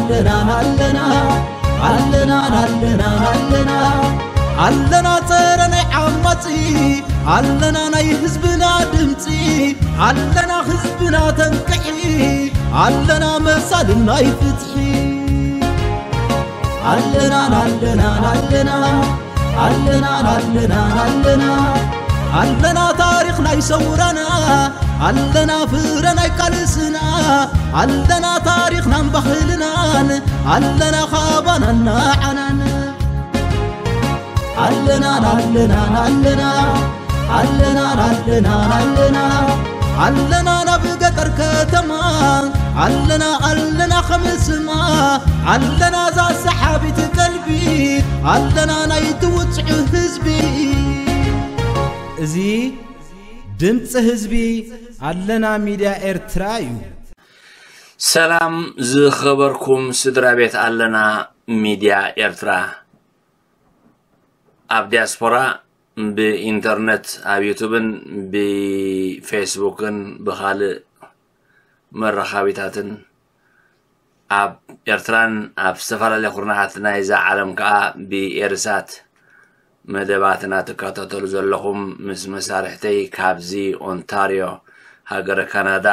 ኣለና ኣለና ኣለና ኣለና ኣለና ኣለና ጸረ ናይ ዓማጺ ኣለና ናይ ህዝብና ድምጺ ኣለና ህዝብና ተንቅሒ ኣለና መሳልን ናይ ፍትሒ ኣለና ኣለና ኣለና ኣለና ኣለና ኣለና ኣለና ታሪኽ ናይ ሰውራና ኣለና ፍረ ናይ ቃልስና ኣለና ታሪኽናን ባህልናን ኣለና ካባናን ንዓናን ኣለና ኣለና ኣለና ኣለና ኣለና ኣለና ኣለና ናብ ገጠር ከተማ ኣለና ኣለና ከምስማ ኣለና ዛ ሰሓቢት ቀልቢ ኣለና ናይ ትውፅዑ ህዝቢ እዚ ድምፂ ህዝቢ ኣለና ሚድያ ኤርትራ እዩ። ሰላም ዝኸበርኩም ስድራ ቤት ኣለና ሚድያ ኤርትራ ኣብ ዲያስፖራ ብኢንተርነት ኣብ ዩቱብን ብፌስቡክን ብኻልእ መራኻቢታትን ኣብ ኤርትራን ኣብ ዝተፈላለየ ኩርናዓት ናይዛ ዓለም ከኣ ብኤርሳት መደባትና ትከታተሉ ዘለኹም ምስ መሳርሕተይ ካብዚ ኦንታርዮ ሃገረ ካናዳ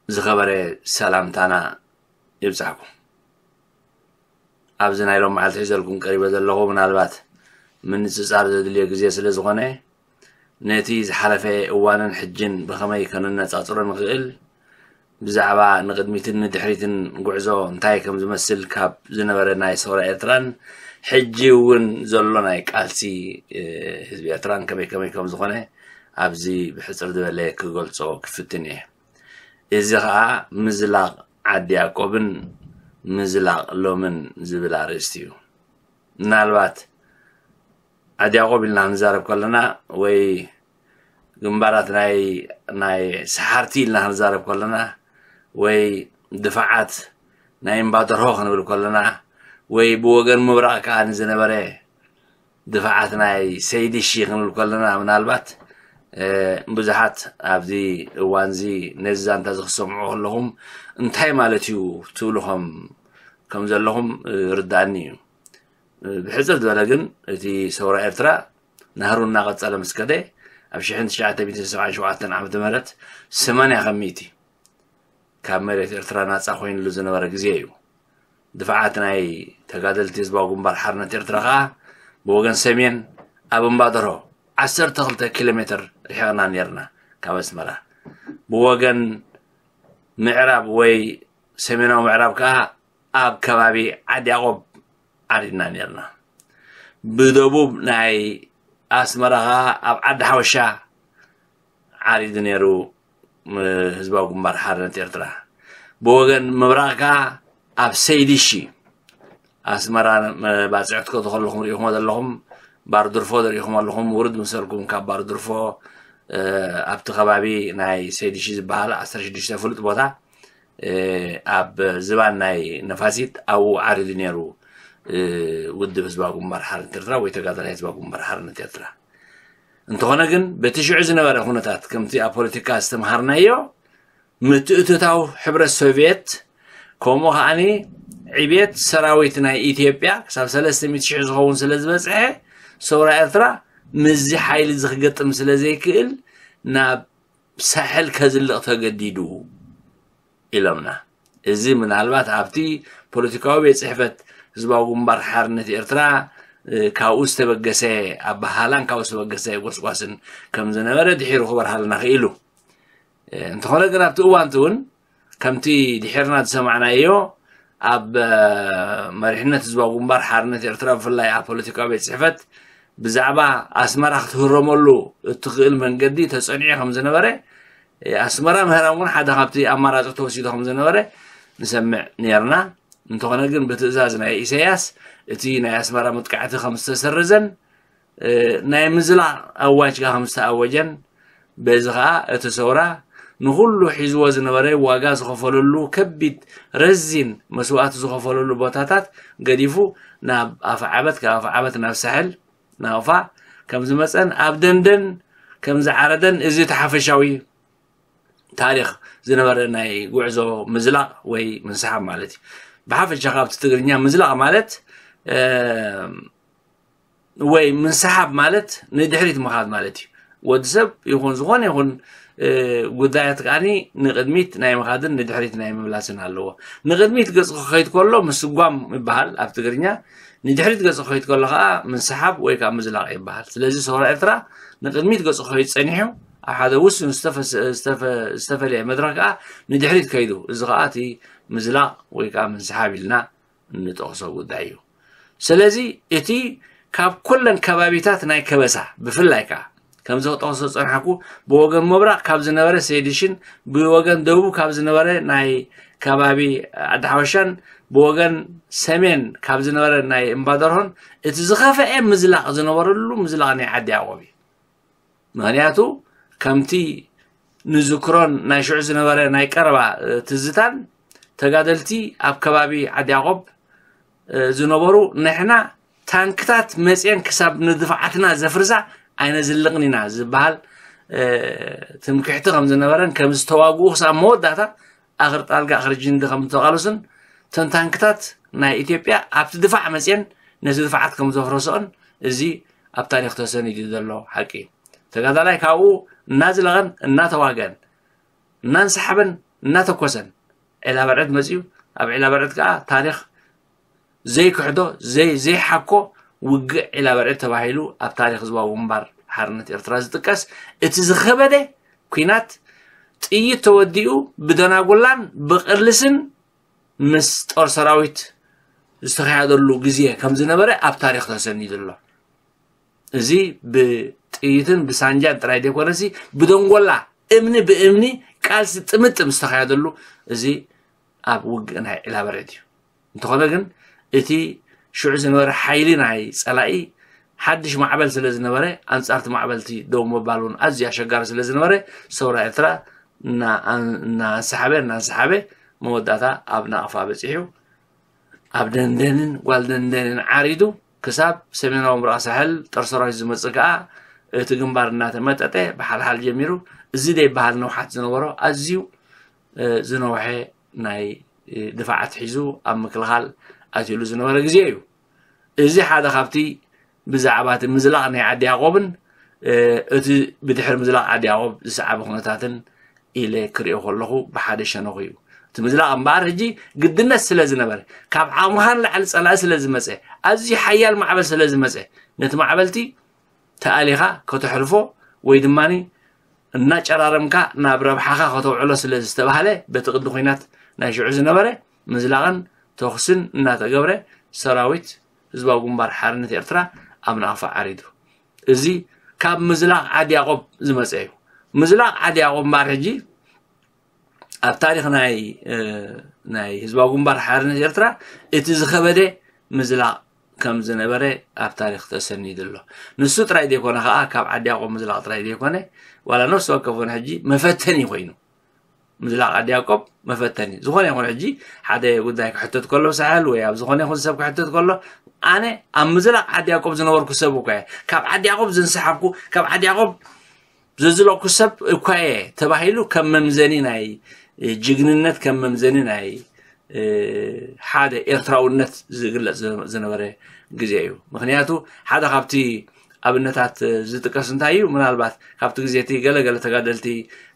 ዝኸበረ ሰላምታና ይብጻሕኩም። ኣብዚ ናይ ሎም መዓልቲ ሒዘልኩም ቀሪበ ዘለኹ ምናልባት ምንጽጻር ዘድልዮ ግዜ ስለ ዝኾነ ነቲ ዝሓለፈ እዋንን ሕጅን ብኸመይ ከነነጻጽሮ ንኽእል ብዛዕባ ንቕድሚትን ንድሕሪትን ጉዕዞ እንታይ ከም ዝመስል ካብ ዝነበረ ናይ ሰውራ ኤርትራን ሕጂ እውን ዘሎ ናይ ቃልሲ ህዝቢ ኤርትራን ከመይ ከመይ ከም ዝኾነ ኣብዚ ብሕጽር ዝበለ ክገልጾ ክፍትን እየ። እዚ ኸኣ ምዝላቕ ዓዲ ያዕቆብን ምዝላቕ ሎምን ዝብል ኣርእስቲ እዩ። ምናልባት ዓዲ ያዕቆብ ኢልና ክንዛረብ ከለና ወይ ግንባራት ናይ ናይ ሰሓርቲ ኢልና ክንዛረብ ከለና ወይ ድፋዓት ናይ እምባ ደርሆ ክንብል ከለና ወይ ብወገን ምብራቕ ከኣ ንዝነበረ ድፋዓት ናይ ሰይዲ ሺ ክንብል ከለና ምናልባት ብዙሓት ኣብዚ እዋንዚ ነዚ ዛንታ ዝክሰምዑ ከለኹም እንታይ ማለት እዩ ትብሉ ከም ከም ዘለኹም ርዳእኒ እዩ። ብሕፅር ዝበለ ግን እቲ ሰውራ ኤርትራ ናህሩ እናቐፀለ ምስ ከደ ኣብ ሽሕን ትሽዓተ ሚእትን ሰብዓን ሸውዓተን ዓመተ ምህረት ሰማንያ ከም ሚእቲ ካብ መሬት ኤርትራ ናፃ ኮይንሉ ዝነበረ ግዜ እዩ። ድፍዓት ናይ ተጋደልቲ ህዝባዊ ግንባር ሓርነት ኤርትራ ከኣ ብወገን ሰሜን ኣብ እምባደርሆ ዓሰርተ ክልተ ኪሎ ሜትር ርሒቕና ነይርና ካብ ኣስመራ። ብወገን ምዕራብ ወይ ሰሜናዊ ምዕራብ ከኣ ኣብ ከባቢ ዓዲ ያቆብ ዓሪድና ነይርና። ብደቡብ ናይ ኣስመራ ከኣ ኣብ ዓዲ ሓወሻ ዓሪዱ ነይሩ ህዝባዊ ግንባር ሓርነት ኤርትራ። ብወገን ምብራቕ ከኣ ኣብ ሰይዲሺ ኣስመራ ባፅዕቲ ክትከዱ ከለኹም ሪኢኹሞ ዘለኹም ባርድርፎ ሪኢኹም ኣለኹም። ውርድ ምሰልኩም ካብ ባርድርፎ ኣብቲ ከባቢ ናይ ሰይዲሺ ዝበሃል ዓሰርተ ሽዱሽተ ፍሉጥ ቦታ ኣብ ዝባን ናይ ነፋሲት ኣብኡ ዓሪዱ ነይሩ ውድብ ህዝባዊ ግንባር ሓርነት ኤርትራ ወይ ተጋዳላይ ህዝባዊ ግንባር ሓርነት ኤርትራ። እንተኾነ ግን በቲ ሽዑ ዝነበረ ኩነታት ከምቲ ኣብ ፖለቲካ ዝተምሃርናዮ ምትእትታው ሕብረት ሶቭየት ከምኡ ከዓኒ ዕብየት ሰራዊት ናይ ኢትዮጵያ ክሳብ ሰለስተ ሚእቲ ሽሕ ዝኸውን ስለ ዝበፅሐ ሰውራ ኤርትራ ምስዚ ሓይሊ እዚ ክገጥም ስለ ዘይክእል ናብ ሳሕል ከዝልቕ ተገዲዱ ኢሎምና። እዚ ምናልባት ኣብቲ ፖለቲካዊ ቤት ፅሕፈት ህዝባዊ ግንባር ሓርነት ኤርትራ ካብኡ ዝተበገሰ ኣበሃላን ካብኡ ዝተበገሰ ጎስጓስን ከም ዝነበረ ድሒሩ ክበርሃልና ክኢሉ። እንተኾነ ግን ኣብቲ እዋንቲ እውን ከምቲ ድሒርና ዝሰማዕናዮ ኣብ መሪሕነት ህዝባዊ ግንባር ሓርነት ኤርትራ ብፍላይ ኣብ ፖለቲካዊ ቤት ፅሕፈት ብዛዕባ ኣስመራ ክትህረመሉ እትኽእል መንገዲ ተፀኒዑ ከም ዝነበረ ኣስመራ ምህራም እውን ሓደ ካብቲ ኣማራፂ ተወሲዱ ከም ዝነበረ ንሰምዕ ነርና። እንተኾነ ግን ብትእዛዝ ናይ ኢሳያስ እቲ ናይ ኣስመራ መጥቃዕቲ ከም ዝተሰረዘን ናይ ምዝላቕ ኣዋጅ ከኣ ከም ዝተኣወጀን በዚ ከኣ እቲ ሰውራ ንኹሉ ሒዝዎ ዝነበረ ዋጋ ዝኸፈለሉ ከቢድ ረዚን መስዋእቲ ዝኸፈለሉ ቦታታት ገዲፉ ናብ ኣፍዓበት ካብ ኣፍዓበት ናብ ሳሕል ናቕፋ ከም ዝመፀን ኣብ ደንደን ከም ዝዓረደን እዚ እቲ ሓፈሻዊ ታሪኽ ዝነበረ ናይ ጉዕዞ ምዝላቕ ወይ ምንስሓብ ማለት እዩ። ብሓፈሻ ካብቲ ትግርኛ ምዝላቕ ማለት ወይ ምንስሓብ ማለት ንድሕሪት ምኻድ ማለት እዩ። ወዲ ሰብ ይኹን ዝኾነ ይኹን ጉዳያት ከዓኒ ንቕድሚት ናይ ምኻድን ንድሕሪት ናይ ምምላስን ኣለዎ። ንቕድሚት ገጽ ክኸይድ ከሎ ምስጓም ይበሃል ኣብ ትግርኛ፣ ንድሕሪት ገጽ ክኸይድ ከሎ ከዓ ምንስሓብ ወይ ከዓ ምዝላቕ ይበሃል። ስለዚ ሰውራ ኤርትራ ንቕድሚት ገጽ ክኸይድ ጸኒሑ ኣብ ሓደ ውሱን ዝተፈለየ መድረክ ከዓ ንድሕሪት ከይዱ፣ እዚ ከዓ እቲ ምዝላቕ ወይ ከዓ ምንስሓብ ኢልና እንጠቕሶ ጉዳይ እዩ። ስለዚ እቲ ካብ ኩለን ከባቢታት ናይ ከበሳ ብፍላይ ከዓ ከምዚ ክጠቕሶ ዝጸንሓኩ ብወገን ምብራቕ ካብ ዝነበረ ሴዲሽን ብወገን ደቡብ ካብ ዝነበረ ናይ ከባቢ ዓዲ ሓበሻን ብወገን ሰሜን ካብ ዝነበረ ናይ እምባደርሆን እቲ ዝኸፈኤ ምዝላቕ ዝነበረሉ ምዝላቕ ናይ ዓዲ ያዕቆብ እዩ። ምኽንያቱ ከምቲ ንዝክሮን ናይ ሽዑ ዝነበረ ናይ ቀረባ ትዝታን ተጋደልቲ ኣብ ከባቢ ዓዲ ያዕቆብ ዝነበሩ ንሕና ታንክታት መፅየን ክሳብ ንድፋዓትና ዘፍርሳ ኣይነዝልቕን ኢና ዝበሃል ትምክሕቲ ከም ዝነበረን ከም ዝተዋግኡ ክሳብ መወዳእታ ኣኽር ጣልጋ ኣኽር ጅንዲ ከም ዝተቓለሱን እተን ታንክታት ናይ ኢትዮጵያ ኣብቲ ድፋዕ መፅየን ነቲ ድፋዓት ከም ዘፍረስኦን እዚ ኣብ ታሪኽ ተሰኒዱ ዘሎ ሓቂ እዩ። ተጋዳላይ ካብኡ እናዝለቐን እናተዋገን እናንሰሓበን እናተኮሰን ዒላ በርዕድ መፅዩ። ኣብ ዒላ በርዕድ ከዓ ታሪኽ ዘይክሕዶ ዘይሓኮ ውግእ ዒላ በርዕድ ተባሂሉ ኣብ ታሪኽ ህዝባዊ ግንባር ሓርነት ኤርትራ ዝጥቀስ እቲ ዝኸበደ ኲናት ጥይት ተወዲኡ ብደናጉላን ብቕልስን ምስ ጦር ሰራዊት ዝተኻየደሉ ግዜ ከም ዝነበረ ኣብ ታሪኽ ተሰኒዱ ኣሎ። እዚ ብጥይትን ብሳንጃን ጥራይ ዘይኮነሲ ብደንጎላ እምኒ ብእምኒ ቃልሲ ጥምጥም ዝተኻየደሉ እዚ ኣብ ውግእ ናይ ዒላ በርዕድ እዩ። እንተኾነ ግን እቲ ሽዑ ዝነበረ ሓይሊ ናይ ጸላኢ ሓድሽ ማዕበል ስለ ዝነበረ ኣንጻርቲ ማዕበልቲ ደው ምባል እውን ኣዝዩ ኣሸጋሪ ስለ ዝነበረ ሰውራ ኤርትራ እናንሰሓበ እናንሰሓበ መወዳእታ ኣብ ናቕፋ በፂሑ ኣብ ደንደንን ጓል ደንደንን ዓሪዱ ክሳብ ሰሜናዊ ምብራቕ ሳሕል ጦር ሰራዊት ዝመፅእ ከዓ እቲ ግንባር እናተመጠጠ ብሓልሓል ጀሚሩ እዚ ደይበሃል ነውሓት ዝነበሮ ኣዝዩ ዝነውሐ ናይ ድፋዓት ሒዙ ኣብ ምክልኻል ኣትዩሉ ዝነበረ ግዜ እዩ። እዚ ሓደ ካብቲ ብዛዕባ እቲ ምዝላቕ ናይ ዓዲ ያዕቆብን እቲ ብድሕሪ ምዝላቕ ዓዲ ያዕቆብ ዝሰዓበ ኩነታትን ኢለ ክሪኦ ከለኹ ብሓደ ሸነኹ እዩ። እቲ ምዝላቕ እምበኣር ሕጂ ግድነት ስለ ዝነበረ ካብ ዓቕምኻ ንላዕሊ ጸላኢ ስለ ዝመጸ ኣዝዩ ሓያል ማዕበል ስለ ዝመጸ ነቲ ማዕበልቲ ተኣሊኻ ከተሕልፎ ወይ ድማ እናጨራረምካ ናብ ረብሓኻ ከተውዕሎ ስለ ዝተባህለ በቲ ቅዲ ኲናት ናይ ሽዑ ዝነበረ ምዝላቕን ተኹስን እናተገብረ ሰራዊት ህዝባዊ ግንባር ሓርነት ኤርትራ ኣብ ናቕፋ ዓሪዱ። እዚ ካብ ምዝላቕ ዓዲ ያዕቆብ ዝመፀ እዩ። ምዝላቕ ዓዲ ያዕቆብ እምበኣር ሕጂ ኣብ ታሪኽ ናይ ናይ ህዝባዊ ግንባር ሓርነት ኤርትራ እቲ ዝኸበደ ምዝላቕ ከም ዝነበረ ኣብ ታሪኽ ተሰኒዱ ኣሎ። ንሱ ጥራይ ዘይኮነ ከዓ ካብ ዓዲ ያዕቆብ ምዝላቕ ጥራይ ዘይኮነ ዋላ ነፍሲ ወከፍ እውን ሕጂ መፈተኒ ኮይኑ ምዝላቕ ዓዲ ያዕቆብ መፈተኒ ዝኾነ ይኹን ሕጂ ሓደ ጉዳይ ክሕተት ከሎ ሳሕል ወይ ኣብ ዝኾነ ይኹን ሰብ ክሕተት ከሎ ኣነ ኣብ ምዝላቕ ዓዲ ያዕቆብ ዝነበርኩ ሰብ እኳ እየ። ካብ ዓዲ ያዕቆብ ዘንሰሓብኩ ካብ ዓዲ ያዕቆብ ዘዝለቕኩ ሰብ እኳ እየ ተባሂሉ ከም መምዘኒ ናይ ጅግንነት ከም መምዘኒ ናይ ሓደ ኤርትራውነት ዝግለፅ ዝነበረ ግዜ እዩ። ምክንያቱ ሓደ ካብቲ ኣብነታት ዝጥቀስ እንታይ እዩ? ምናልባት ካብቲ ግዜ እቲ ገለገለ ተጋደልቲ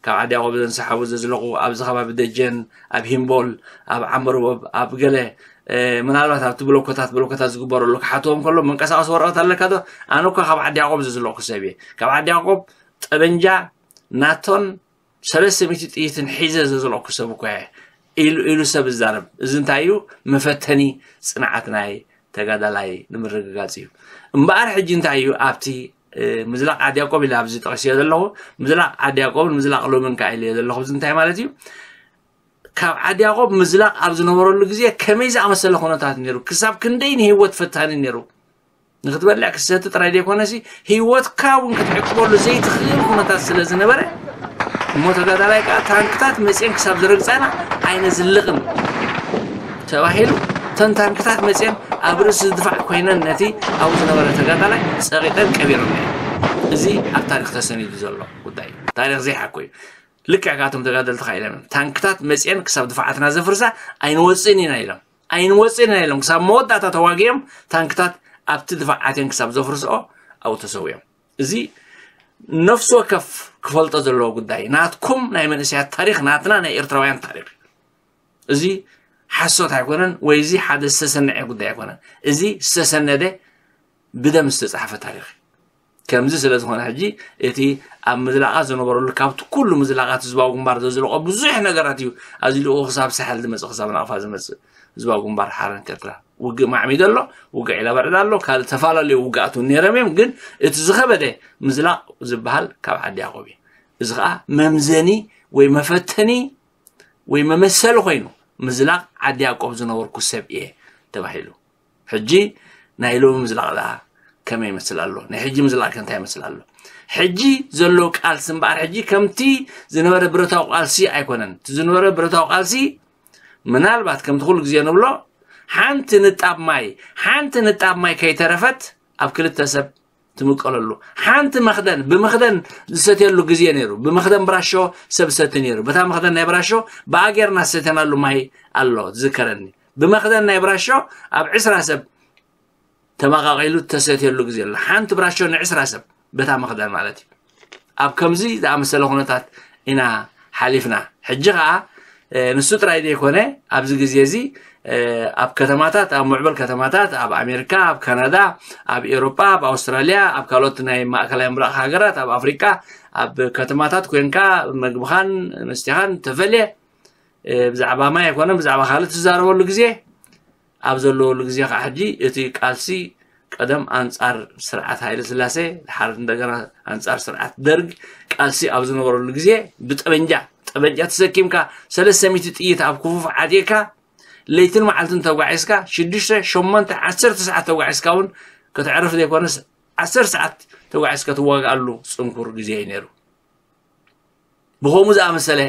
ካብ ዓዲ ያዕቆብ ዘንሰሓቡ ዘዝለቑ ኣብዚ ከባቢ ደጀን ኣብ ሂምቦል ኣብ ዓመርቦብ ኣብ ገለ ምናልባት ኣብቲ ብሎኮታት ብሎኮታት ዝግበረሉ ክሓትዎም ከሎ መንቀሳቐሲ ወረቐት ኣለካ ዶ? ኣነ እኳ ካብ ዓዲ ያዕቆብ ዘዝለቑ ሰብ እየ። ካብ ዓዲ ያዕቆብ ጠበንጃ ናቶን ሰለስተ ሚእቲ ጥይትን ሒዘ ዘዝለቕኩ ሰብ እኳ እየ ኢሉ ኢሉ ሰብ ዝዛረብ። እዚ እንታይ እዩ? መፈተኒ ፅንዓት ናይ ተጋዳላይ ንምርግጋፅ እዩ። እምበኣር ሕጂ እንታይ እዩ ኣብቲ ምዝላቕ ዓዲ ያዕቆብ ኢለ ኣብዚ ጠቒሰዮ ዘለኹ ምዝላቕ ዓዲ ያዕቆብን ምዝላቕ ሎምን ከዓ ኢለዮ ዘለኹ እዚ እንታይ ማለት እዩ? ካብ ዓዲ ያዕቆብ ምዝላቕ ኣብ ዝነበረሉ ግዜ ከመይ ዝኣመሰለ ኩነታት ነይሩ? ክሳብ ክንደይ ንህይወት ፈታኒ ነይሩ? ንክትበልዕ ክሰቲ ጥራይ ዘይኮነሲ ህይወትካ እውን ክትዕቅበሉ ዘይትኽእል ኩነታት ስለ ዝነበረ እሞ ተጋዳላይ ከዓ ታንክታት መፅየን ክሳብ ዝረግፃና ኣይነዝልቕን ተባሂሉ እተን ታንክታት መፅየን ኣብ ርእሲ ድፋዕ ኮይነን ነቲ ኣብኡ ዝነበረ ተጋዳላይ ፀቒጠን ቀቢረን። እዚ ኣብ ታሪክ ተሰኒዱ ዘሎ ጉዳይ እዩ። ታሪክ ዘይሓኮ እዩ። ልክዕ ካብቶም ተጋደልቲ ካ ኢሎም እዮም። ታንክታት መፅአን ክሳብ ድፋዓትና ዘፍርሳ ኣይንወፅእን ኢና ኢሎም። ኣይንወፅእን ኢና ኢሎም። ክሳብ መወዳእታ ተዋጊኦም ታንክታት ኣብቲ ድፋዓትን ክሳብ ዘፍርስኦ ኣብኡ ተሰዊኦም። እዚ ነፍሲ ወከፍ ክፈልጦ ዘለዎ ጉዳይ፣ ናትኩም ናይ መንእሰያት ታሪኽ፣ ናትና ናይ ኤርትራውያን ታሪኽ። እዚ ሓሶት ኣይኮነን፣ ወይ እዚ ሓደ ዝተሰነዐ ጉዳይ ኣይኮነን። እዚ ዝተሰነደ ብደም ዝተጻሕፈ ታሪኽ እዩ። ከምዚ ስለ ዝኾነ ሕጂ እቲ ኣብ ምዝላቓት ዝነበረሉ፣ ካብቲ ኩሉ ምዝላቓት ህዝባዊ ግንባር ዘዝለቖ ብዙሕ ነገራት እዩ ኣዝሊቑ ክሳብ ሳሕል ዝመጽእ፣ ክሳብ ናቕፋ ዝመጽእ። ህዝባዊ ግንባር ሓርነት ኤርትራ ውግእ ማዕሚዱ ኣሎ፣ ውግእ ዒላበርዕድ ኣሎ፣ ካልእ ተፈላለዩ ውግኣት እውን ነይሮም እዮም። ግን እቲ ዝኸበደ ምዝላቕ ዝበሃል ካብ ዓዲ ያዕቆብ እዩ። እዚ ኸኣ መምዘኒ ወይ መፈተኒ ወይ መመሰሊ ኮይኑ፣ ምዝላቕ ዓዲ ያዕቆብ ዝነበርኩ ሰብ እየ ተባሂሉ። ሕጂ ናይ ሎሚ ምዝላቕ ደኣ ከመይ ይመስል ኣሎ? ናይ ሕጂ ምዝላቕ ከ እንታይ ይመስል ኣሎ? ሕጂ ዘሎ ቃልሲ እምበኣር፣ ሕጂ ከምቲ ዝነበረ ብረታዊ ቃልሲ ኣይኮነን። እቲ ዝነበረ ብረታዊ ቃልሲ ምናልባት ከምቲ ኩሉ ግዜ ንብሎ፣ ሓንቲ ንጣብ ማይ፣ ሓንቲ ንጣብ ማይ ከይተረፈት ኣብ ክልተ ሰብ ትምቀለሉ። ሓንቲ መኽደን፣ ብመኽደን ዝሰትየሉ ግዜ ነይሩ። ብመኽደን ብራሾ ሰብ ዝሰቲ ነይሩ። በታ መኽደን ናይ ብራሾ ብኣጌርና ዝሰተናሉ ማይ ኣሎ፣ ዝዝከረኒ። ብመኽደን ናይ ብራሾ ኣብ ዕስራ ሰብ ተመቓቒሉ ተሰትየሉ ግዜ ኣሎ። ሓንቲ ብራሾ ንዕስራ ሰብ፣ በታ መኽደን ማለት እዩ። ኣብ ከምዚ ዝኣመሰለ ኩነታት ኢና ሓሊፍና። ሕጂ ኸኣ፣ እ፣ ንሱ ጥራይ ዘይኮነ፣ ኣብዚ ግዜ እዚ፣ እ፣ ኣብ ከተማታት፣ ኣብ ምዕቡል ከተማታት፣ ኣብ ኣሜሪካ፣ ኣብ ካናዳ፣ ኣብ ኤውሮጳ፣ ኣብ ኣውስትራልያ፣ ኣብ ካልኦት ናይ ማእከላይ ምብራቕ ሃገራት፣ ኣብ ኣፍሪቃ፣ ኣብ ከተማታት ኮንካ መግብኻን መስተኻን ተፈልየ፣ እ፣ ብዛዕባ ማይ ኣይኮነን፣ ብዛዕባ ካልእ ትዛረበሉ ግዜ፣ ኣብ ዘለወሉ ግዜ ከዓ ሕጂ እቲ ቃልሲ ቀደም ኣንጻር ስርዓት ሃይለ ስላሴ፣ ድሓር እንደገና ኣንጻር ስርዓት ደርግ ቃልሲ ኣብ ዝነበረሉ ግዜ ብጠበንጃ፣ ጠበንጃ ተሰኪምካ ሰለስተ ሚእቲ ጥይት ኣብ ክፉፍ ዓጢቕካ ለይትን መዓልትን ተጓዒዝካ ሽዱሽተ፣ ሸሞንተ፣ ዓሰርተ ሰዓት ተጓዒዝካ እውን ከተዕርፍ ዘይኮነስ ዓሰርተ ሰዓት ተጓዒዝካ ትዋግኣሉ ጽንኩር ግዜ እዩ ነይሩ። ብኸምኡ ዝኣመሰለ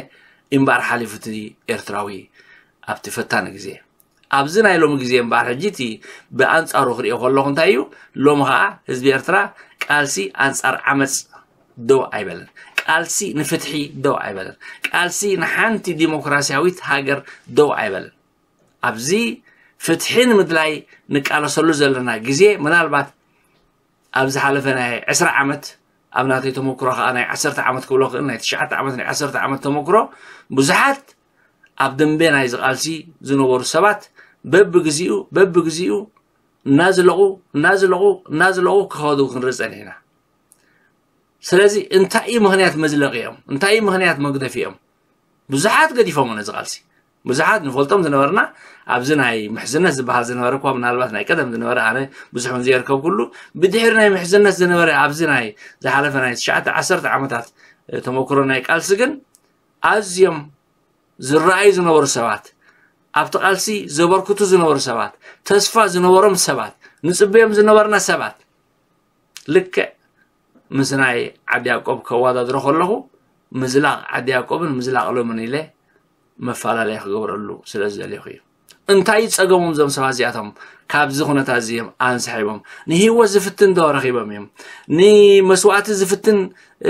እምበኣር ሓሊፉ እቲ ኤርትራዊ ኣብቲ ፈታኒ ግዜ። ኣብዚ ናይ ሎሚ ግዜ እምበኣር ሕጂ እቲ ብኣንጻሩ ክሪኦ ከለኹ እንታይ እዩ፣ ሎሚ ኸኣ ህዝቢ ኤርትራ ቃልሲ ኣንጻር ዓመጽ ደው ኣይበለን። ቃልሲ ንፍትሒ ደው ኣይበለን። ቃልሲ ንሓንቲ ዲሞክራሲያዊት ሃገር ደው ኣይበለን። ኣብዚ ፍትሒ ንምድላይ ንቃለሰሉ ዘለና ግዜ ምናልባት ኣብ ዝሓለፈ ናይ ዕስራ ዓመት፣ ኣብ ናተይ ተመክሮ ኸኣ ናይ ዓሰርተ ዓመት ክብሎ ክእል፣ ናይ ትሽዓተ ዓመት፣ ናይ ዓሰርተ ዓመት ተመክሮ፣ ብዙሓት ኣብ ደንበ ናይዚ ቃልሲ ዝነበሩ ሰባት በብግዚኡ፣ በብግዚኡ እናዝለቑ፣ እናዝለቑ፣ እናዝለቑ ክኸዱ ክንርኢ ጸኒሕና። ስለዚ እንታይ እዩ ምኽንያት መዝለቒኦም? እንታይ እዩ ምኽንያት መግደፊኦም? ብዙሓት ገዲፎም ነዚ ቃልሲ። ብዙሓት ንፈልጦም ዝነበርና፣ ኣብዚ ናይ ምሕዝነት ዝበሃል ዝነበረ እኳ ምናልባት ናይ ቀደም ዝነበረ፣ ኣነ ብዙሕ እውን ዘየርከብኩሉ፣ ብድሕሪ ናይ ምሕዝነት ዝነበረ ኣብዚ ናይ ዝሓለፈ ናይ ትሽዓተ ዓሰርተ ዓመታት፣ እ፣ ተመክሮ ናይ ቃልሲ ግን ኣዝዮም ዝረኣዩ ዝነበሩ ሰባት፣ ኣብቲ ቃልሲ ዘበርክቱ ዝነበሩ ሰባት፣ ተስፋ ዝነበሮም ሰባት፣ ንጽበዮም ዝነበርና ሰባት፣ ልክዕ ምስ ናይ ዓዲ ያዕቆብ ከወዳድሮ ከለኹ፣ ምዝላቕ ዓዲ ያዕቆብን ምዝላቕ ሎምን ኢለ መፈላለያ ክገብረሉ ስለ ዝደለኹ እዩ። እንታይ እዩ ጸገሞም እዞም ሰባት እዚኣቶም? ካብዚ ኩነታት እዚ እዮም ኣንስሒቦም። ንህይወት ዝፍትን ዶ ረኺቦም እዮም? ንመስዋእቲ ዝፍትን፣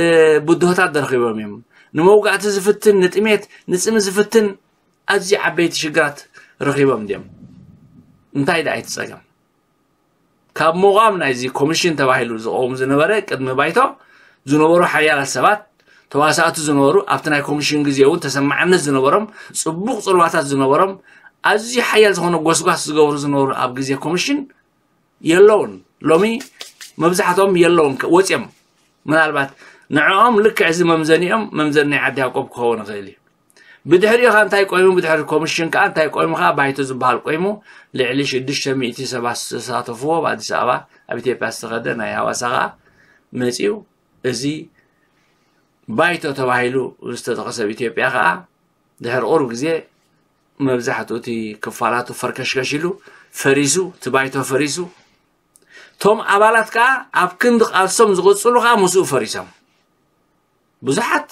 እ፣ ብድሆታት ዶ ረኺቦም እዮም? ንመውጋእቲ ዝፍትን፣ ንጥሜት፣ ንጽሚ ዝፍትን ኣዝዩ ዓበይቲ ሽግራት ረኺቦም ድዮም? እንታይ ደኣ እቲ ጸገም? ካብ ምቋም ናይዚ ኮሚሽን ተባሂሉ ዝቐውም ዝነበረ ቅድሚ ባይቶ ዝነበሩ ሓያላት ሰባት፣ ተዋሳእቲ ዝነበሩ፣ ኣብቲ ናይ ኮሚሽን ግዜ እውን ተሰማዕነት ዝነበሮም፣ ጽቡቕ ጽልዋታት ዝነበሮም፣ ኣዝዩ ሓያል ዝኾነ ጎስጓስ ዝገብሩ ዝነበሩ ኣብ ግዜ ኮሚሽን የለውን። ሎሚ መብዛሕትኦም የለውን፣ ከ-፣ ወጽዮም። ምናልባት ንዕኦም ልክዕ እዚ መምዘኒኦም መምዘኒ ናይ ዓዲ ያዕቆብ ክኸውን ይኽእል እዩ። ብድሕሪኡ ኸኣ እንታይ ቆይሙ? ብድሕሪ ኮሚሽን ከኣ እንታይ ቆይሙ? ከኣ ባይቶ ዝበሃል ቆይሙ፣ ልዕሊ ሽዱሽተ ሚእቲ ሰባት ዝተሳተፍዎ፣ ኣብ ኣዲስ ኣበባ፣ ኣብ ኢትዮጵያ ዝተኸደ ናይ ሃዋሳ ኸኣ መጺኡ። እዚ ባይቶ ተባሂሉ ዝተጠቐሰ ኣብ ኢትዮጵያ ኸኣ ድሕሪ ቁሩብ ግዜ መብዛሕትኡ እቲ ክፋላቱ ፈርከሽከሽ ኢሉ ፈሪሱ፣ እቲ ባይቶ ፈሪሱ። እቶም ኣባላት ከኣ ኣብ ክንዲ ቃልሶም ዝቕጽሉ ከኣ ምስኡ ፈሪሶም። ብዙሓት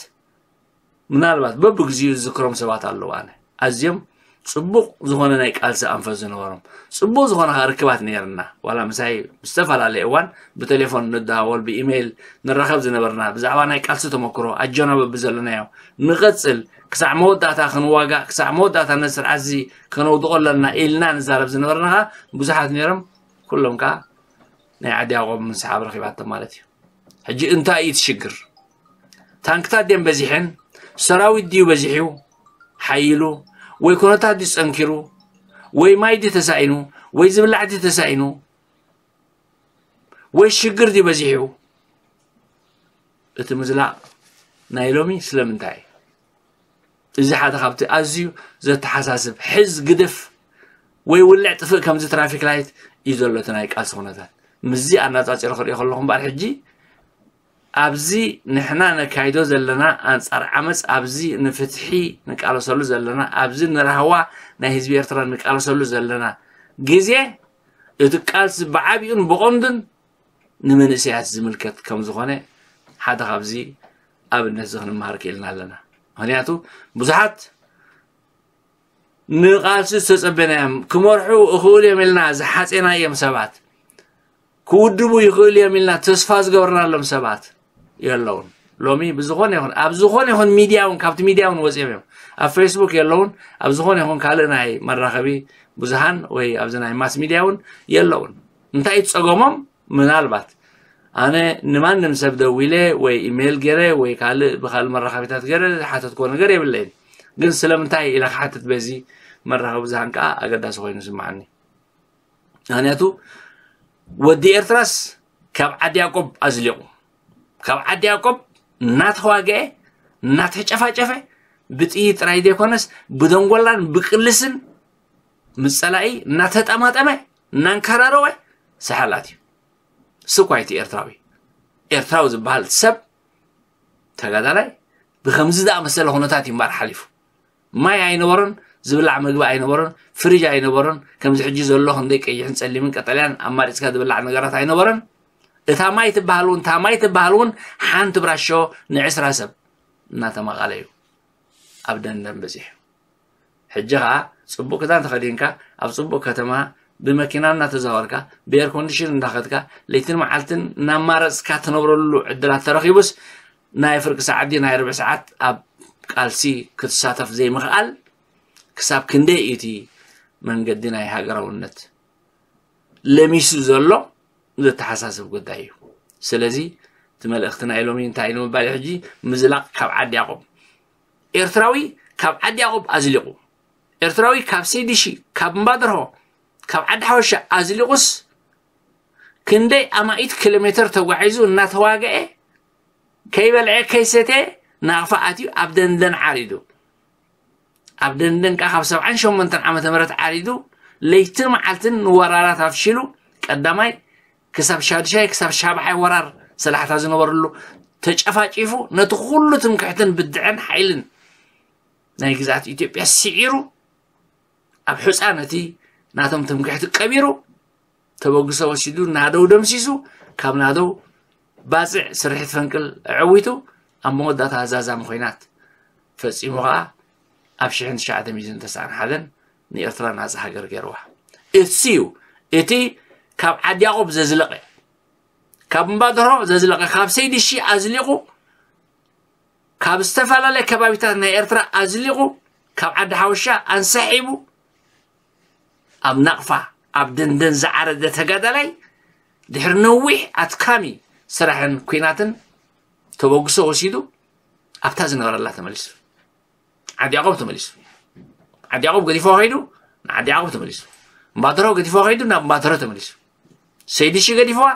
ምናልባት በብግዚኡ ዝዝክሮም ሰባት ኣለዉ። ኣነ ኣዝዮም ጽቡቕ ዝኾነ ናይ ቃልሲ ኣንፈት ዝነበሮም፣ ጽቡቕ ዝኾነ ከዓ ርክባት ነይርና። ዋላ ምሳይ ብዝተፈላለየ እዋን ብቴሌፎን ንደዋወል፣ ብኢሜይል ንራኸብ ዝነበርና፣ ብዛዕባ ናይ ቃልሲ ተመክሮ ኣጆና በብዘለናዮ ንቐጽል፣ ክሳዕ መወዳእታ ክንዋጋእ፣ ክሳዕ መወዳእታ ነዚ ስርዓት እዚ ከነውድቖ ኣለና ኢልና ንዛረብ ዝነበርና ከዓ ብዙሓት ነይሮም። ኩሎም ከዓ ናይ ዓዲ ያዕቆብ ምስሓብ ረኺባቶም ማለት እዩ። ሕጂ እንታይ እዩ እቲ ሽግር? ታንክታት ድየን በዚሐን? ሰራዊት ድዩ በዚሑ ሓይሉ? ወይ ኩነታት ድዩ ጸንኪሩ? ወይ ማይ ድዩ ተሳኢኑ? ወይ ዝብላዕ ድዩ ተሳኢኑ? ወይ ሽግር ድዩ በዚሑ? እቲ ምዝላቕ ናይ ሎሚ ስለምንታይ እዩ? እዚ ሓደ ካብቲ ኣዝዩ ዘተሓሳስብ፣ ሕዝ ግድፍ ወይ ውልዕ ጥፍእ ከምዚ ትራፊክ ላይት እዩ ዘሎ እቲ ናይ ቃልሲ ኩነታት። ምስዚ ኣነጻጺረ ክሪኦ ከለኹ እምበኣር ሕጂ ኣብዚ ንሕና ነካይዶ ዘለና ኣንጻር ዓመጽ፣ ኣብዚ ንፍትሒ ንቃለሰሉ ዘለና፣ ኣብዚ ንራህዋ ናይ ህዝቢ ኤርትራ ንቃለሰሉ ዘለና ግዜ፣ እቲ ቃልሲ ብዓቢኡን ብቐንዱን ንመንእሰያት ዝምልከት ከም ዝኾነ ሓደ ካብዚ ኣብነት እዚ ክንመሃር ክኢልና ኣለና። ምኽንያቱ ብዙሓት ንቃልሲ ዝተጸበናዮም ክመርሑ እኽእሉ እዮም ኢልና ዝሓጼናዮም ሰባት፣ ክውድቡ ይኽእሉ እዮም ኢልና ተስፋ ዝገበርናሎም ሰባት የለውን። ሎሚ ብዝኾነ ይኹን፣ ኣብ ዝኾነ ይኹን ሚድያ እውን፣ ካብቲ ሚድያ እውን ወጺኦም እዮም። ኣብ ፌስቡክ የለውን፣ ኣብ ዝኾነ ይኹን ካልእ ናይ መራኸቢ ብዙሃን ወይ ኣብዚ ናይ ማስ ሚድያ እውን የለውን። እንታይ እዩ ጸገሞም? ምናልባት ኣነ ንማንም ሰብ ደዊለ ወይ ኢሜይል ገይረ ወይ ካልእ ብኻልእ መራኸቢታት ገይረ ዝሓተትክዎ ነገር የብለይን። ግን ስለምንታይ ኢለ ክሓትት በዚ መራኸቢ ብዙሃን ከዓ ኣገዳሲ ኮይኑ ይስምዓኒ። ምኽንያቱ ወዲ ኤርትራስ ካብ ዓዲ ያዕቆብ ኣዝሊቑ፣ ካብ ዓዲ ያዕቆብ እናተዋግአ እናተጨፋጨፈ ብጥይት ጥራይ ዘይኮነስ ብደንጎላን ብቅልስን ምስ ጸላኢ እናተጠማጠመ እናንከራረወ ሰሓላት እዩ። ስኳይቲ ኤርትራዊ፣ ኤርትራዊ ዝበሃል ሰብ ተጋዳላይ ብከምዚ ዝኣመሰለ ኩነታት እዩ እምበኣር ሓሊፉ። ማይ ኣይነበሮን፣ ዝብላዕ መግቢ ኣይነበሮን፣ ፍሪጅ ኣይነበሮን። ከምዚ ሕጂ ዘሎ ክንደይ ቀይሕን ጸሊምን ቀጠልያን ኣማሪጽካ ዝብላዕ ነገራት ኣይነበሮን። እታ ማይ ትበሃል እውን፣ እታ ማይ ትበሃል እውን ሓንቲ ብራሾ ንዕስራ ሰብ እናተማቐለ እዩ ኣብ ደንደን በጺሑ። ሕጂ ኸኣ ጽቡቕ ክዳን ተኸዲንካ፣ ኣብ ጽቡቕ ከተማ ብመኪና እናተዛወርካ፣ ብኤር ኮንዲሽን እንዳኸድካ፣ ለይትን መዓልትን እናማረጽካ ትነብረሉ ዕድላት ተረኺቡስ፣ ናይ ፍርቂ ሰዓት ድዩ ናይ ርብዒ ሰዓት ኣብ ቃልሲ ክትሳተፍ ዘይምኽኣል፣ ክሳብ ክንደይ እዩ እቲ መንገዲ ናይ ሃገራውነት ለሚሱ ዘሎ ዘተሓሳስብ ጉዳይ እዩ። ስለዚ እቲ መልእኽቲ ናይ ሎሚ እንታይ እዩ ንምባል እዩ ሕጂ ምዝላቕ ካብ ዓዲ ያዕቆብ። ኤርትራዊ ካብ ዓዲ ያዕቆብ ኣዝሊቑ፣ ኤርትራዊ ካብ ሰይድሺ፣ ካብ እምባደርሆ፣ ካብ ዓዲ ሓወሻ ኣዝሊቑስ ክንደይ ኣማኢት ኪሎ ሜተር ተጓዒዙ እናተዋግአ ከይበልዐ ከይሰተ ናቕፋ ኣትዩ ኣብ ደንደን ዓሪዱ። ኣብ ደንደን ከኣ ካብ ሰብዓን ሸሞንተን ዓመተ ምህረት ዓሪዱ ለይትን መዓልትን ንወራራት ኣፍሺሉ ቀዳማይ ክሳብ ሻድሻይ ክሳብ ሻብዓይ ወራር ሰላሕታ ዝነበረሉ ተጨፋጪፉ ነቲ ኩሉ ትምክሕትን ብድዐን ሓይልን ናይ ግዝኣት ኢትዮጵያ ስዒሩ ኣብ ሑጻ ነቲ ናቶም ትምክሕቲ ቀቢሩ ተበግሶ ወሲዱ ናደው ደምሲሱ ካብ ናደው ባጽዕ ስርሒት ፈንቅል ኣዐዊቱ ኣብ መወዳእታ ዛዛሚ ኮይናት ፈጺሙ ኸኣ ኣብ ሽሕን ትሽዓተ ሚእትን ተስዓን ሓደን ንኤርትራ ናጻ ሃገር ገይርዋ። እሱ እዩ እቲ ካብ ዓዲ ያዕቆብ ዘዝለቐ፣ ካብ እምባደርሆ ዘዝለቐ፣ ካብ ሰይድሺ ኣዝሊቑ፣ ካብ ዝተፈላለየ ከባቢታት ናይ ኤርትራ ኣዝሊቑ፣ ካብ ዓዲ ሓወሻ ኣንሳሒቡ ኣብ ናቕፋ ኣብ ደንደን ዝዓረደ ተጋዳላይ ድሕሪ ነዊሕ ኣድካሚ ስራሕን ኲናትን ተበግሶ ወሲዱ ኣብታ ዝነበረላ ተመሊሱ። ዓዲ ያዕቆብ ተመሊሱ። ዓዲ ያዕቆብ ገዲፎ ከይዱ ንዓዲ ያዕቆብ ተመሊሱ። እምባደርሆ ገዲፎ ከይዱ ናብ እምባደርሆ ተመሊሱ። ሰይድሺ ገዲፍዋ፣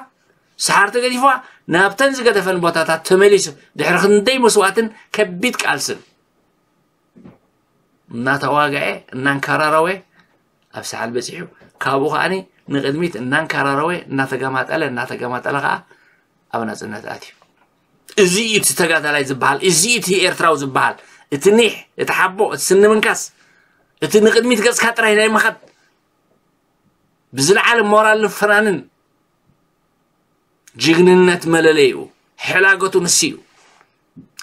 ሰሓርቲ ገዲፍዋ፣ ናብተን ዝገደፈን ቦታታት ተመሊሱ ድሕሪ ክንደይ መስዋእትን ከቢድ ቃልስን እናተዋግዐ እናንከራረወ ኣብ ሰሓል በጺሑ። ካብኡ ከኣ ንቕድሚት እናንከራረወ እናተገማጠለ እናተገማጠለ ከኣ ኣብ ናጽነት ኣትዩ። እዚ እዩ እቲ ተጋዳላይ ዝበሃል፣ እዚ እዩ እቲ ኤርትራዊ ዝበሃል፣ እቲ ኒሕ፣ እቲ ሓቦ፣ እቲ ስኒ ምንካስ፣ እቲ ንቕድሚት ገጽካ ጥራይ ናይ ምኻድ ብዝለዓለ ሞራልን ፍናንን ጅግንነት መለለይኡ፣ ሕላገቱ ንሱ እዩ።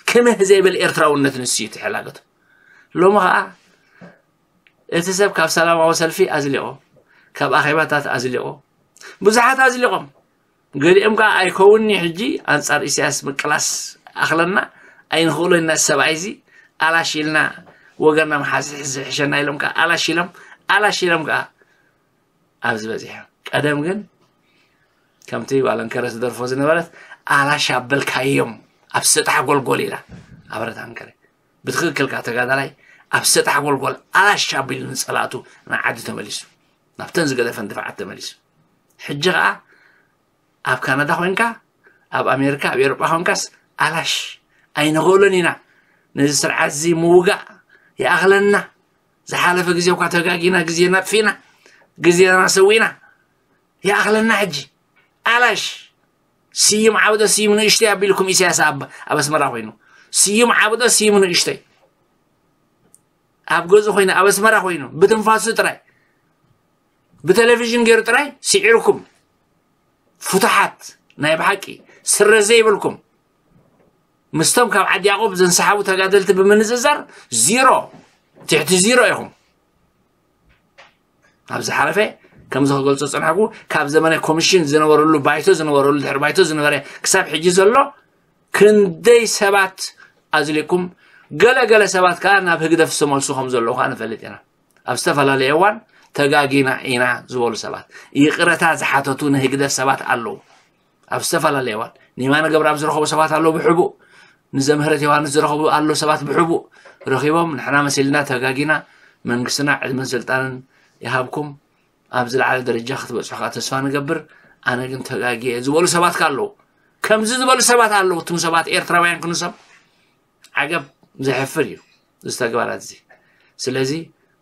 ክምህ ዘይብል ኤርትራውነት ንሱ እዩ እቲ ሕላገቱ። ሎሚ ኸኣ እቲ ሰብ ካብ ሰላማዊ ሰልፊ ኣዝሊቖ፣ ካብ ኣኼባታት ኣዝሊቖ፣ ብዙሓት ኣዝሊቖም። ገሊኦም ከዓ ኣይከውንኒ ሕጂ ኣንጻር ኢሳያስ ምቅላስ ኣኽለና ኣይንኽእሎ ኢና፣ ሰብኣይ እዚ ኣላሽ ኢልና ወገና መሓዝ ዝሕሸና ኢሎም ከዓ ኣላሽ ኢሎም ኣላሽ ኢሎም ከዓ ኣብዚ በፂሖም። ቀደም ግን ከምቲ ጓል ኣንከረ ትደርፎ ዝነበረት ኣላሽ ኣበልካዮም ኣብ ሰጣሕ ጎልጎል ኢላ ኣበረት ኣንከረ። ብትኽክል ከዓ ተጋዳላይ ኣብ ሰጣሕ ጎልጎል ኣላሽ ኣቢሉ ንፀላእቱ ንዓዲ ተመሊሱ፣ ናብተን ዝገደፈን ድፋዓት ተመሊሱ። ሕጂ ከዓ ኣብ ካናዳ ኮይንካ፣ ኣብ ኣሜሪካ፣ ኣብ ኤውሮጳ ኮይንካስ ኣላሽ ኣይንኽእሎን ኢና፣ ነዚ ስርዓት እዚ ምውጋእ ይኣኽለና፣ ዝሓለፈ ግዜ እኳ ተጋጊና፣ ግዜና ኣጥፊእና፣ ግዜና ሰዊእና፣ ይኣኽለና። ሕጂ ኣላሽ ስዩም ዓብዶ ስዩም ንእሽተይ ኣቢልኩም ኢሳያስ ኣብ ኣብ ኣስመራ ኮይኑ፣ ስዩም ዓብዶ ስዩም ንእሽተይ ኣብ ገዝኡ ኮይኑ፣ ኣብ ኣስመራ ኮይኑ ብትንፋሱ ጥራይ ብቴሌቪዥን ገይሩ ጥራይ ስዒርኩም፣ ፍቱሓት ናይ ብሓቂ ስረ ዘይብልኩም፣ ምስቶም ካብ ዓዲ ያዕቆብ ዘንሰሓቡ ተጋደልቲ ብምንጽጻር ዚሮ፣ ትሕቲ ዚሮ ኢኹም። ኣብ ዝሓለፈ ከም ዝገልጾ ዝጸናሕኩ፣ ካብ ዘመነ ኮሚሽን ዝነበረሉ ባይቶ ዝነበረሉ ድሕሪ ባይቶ ዝነበረ ክሳብ ሕጂ ዘሎ ክንደይ ሰባት ኣዝሊኩም፣ ገለ ገለ ሰባት ከኣ ናብ ህግደፍ ዝተመልሱ ከም ዘለዉ ከኣ ንፈልጥ ኢና። ኣብ ዝተፈላለየ እዋን ተጋጊና ኢና ዝበሉ ሰባት፣ ይቕረታ ዝሓተቱ ንህግደፍ ሰባት ኣለዉ። ኣብ ዝተፈላለየ እዋን ንየማነ ገብረኣብ ዝረኸቡ ሰባት ኣለዉ ብሕቡእ፣ ንዘምህረት ዮሃንስ ዝረኸቡ ኣለዉ ሰባት ብሕቡእ ረኺቦም፣ ንሕና መሲልና ተጋጊና፣ መንግስትና ዕድመን ስልጣንን ይሃብኩም፣ ኣብ ዝለዓለ ደረጃ ክትበጽሑ ከኣ ተስፋ ንገብር፣ ኣነ ግን ተጋግየ ዝበሉ ሰባት ከ ኣለዉ። ከምዚ ዝበሉ ሰባት ኣለዉ። እቶም ሰባት ኤርትራውያን ክንሶም ዓገብ፣ ዘሕፍር እዩ እዚ ተግባራት እዚ። ስለዚ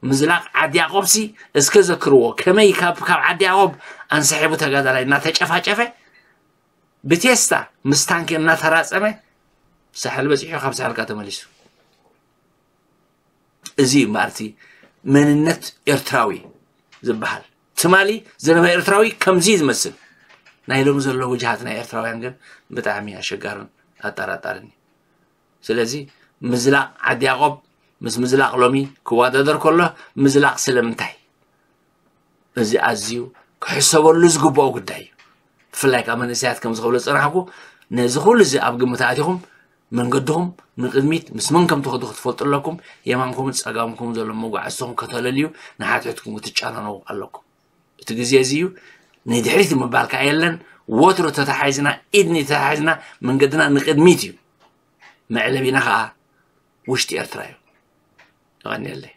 ምዝላቕ ዓዲ ያዕቆብሲ እስከ ዘክርዎ፣ ከመይ ካብ ካብ ዓዲ ያዕቆብ ኣንሰሒቡ ተጋዳላይ እናተጨፋጨፈ ብቴስታ ምስ ታንኪ እናተራጸመ ሳሕል በጺሑ ካብ ሳሕል ከኣ ተመሊሱ። እዚ እዩ እምበኣር እቲ መንነት ኤርትራዊ ዝበሃል። ትማሊ ዝነበረ ኤርትራዊ ከምዚ እዩ ዝመስል። ናይ ሎሚ ዘሎ ውጅሃት ናይ ኤርትራውያን ግን ብጣዕሚ ኣሸጋርን ኣጠራጣርን እዩ። ስለዚ ምዝላቕ ዓዲ ያዕቆብ ምስ ምዝላቕ ሎሚ ክወዳደር ከሎ ምዝላቕ ስለምንታይ? እዚ ኣዝዩ ክሕሰበሉ ዝግብኦ ጉዳይ እዩ። ብፍላይ ከዓ መንእሰያት ከም ዝኽብሎ ዝጸናሕኩ ነዚ ኩሉ እዚ ኣብ ግምት ኣእቲኹም መንገድኹም ንቕድሚት ምስ መን ከም ትኸዱ ክትፈልጡ ኣለኩም። የማንኩምን ጸጋምኩምን ዘሎ መጓዕዝትኹም ከተለልዩ ንሓትሕትኩም ክትጫነነው ኣለኩም። እቲ ግዜ እዚ እዩ። ንድሕሪት ምባል ከዓ የለን። ወትሩ ተተሓሒዝና፣ ኢድኒ ተተሓሒዝና መንገድና ንቕድሚት እዩ። መዕለቢና ከዓ ውሽጢ ኤርትራ እዩ። የቐንየለይ።